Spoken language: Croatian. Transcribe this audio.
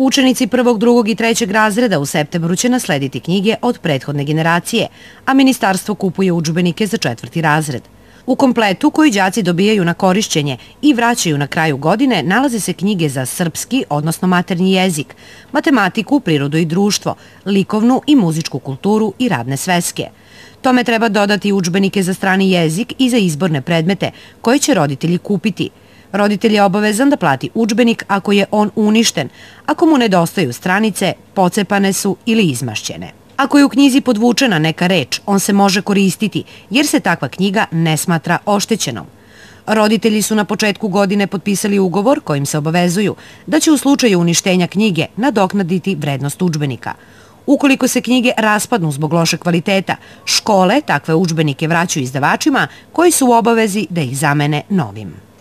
Učenici prvog, drugog i trećeg razreda u septembru će naslediti knjige od prethodne generacije, a ministarstvo kupuje udžbenike za četvrti razred. U kompletu koji đaci dobijaju na korišćenje i vraćaju na kraju godine nalaze se knjige za srpski, odnosno maternji jezik, matematiku, prirodu i društvo, likovnu i muzičku kulturu i radne sveske. Tome treba dodati udžbenike za strani jezik i za izborne predmete koje će roditelji kupiti. Roditelj je obavezan da plati udžbenik ako je on uništen, ako mu nedostaju stranice, pocepane su ili izmašćene. Ako je u knjizi podvučena neka reč, on se može koristiti, jer se takva knjiga ne smatra oštećenom. Roditelji su na početku godine potpisali ugovor kojim se obavezuju da će u slučaju uništenja knjige nadoknaditi vrednost udžbenika. Ukoliko se knjige raspadnu zbog lošeg kvaliteta, škole takve udžbenike vraćaju izdavačima koji su u obavezi da ih zamene novim.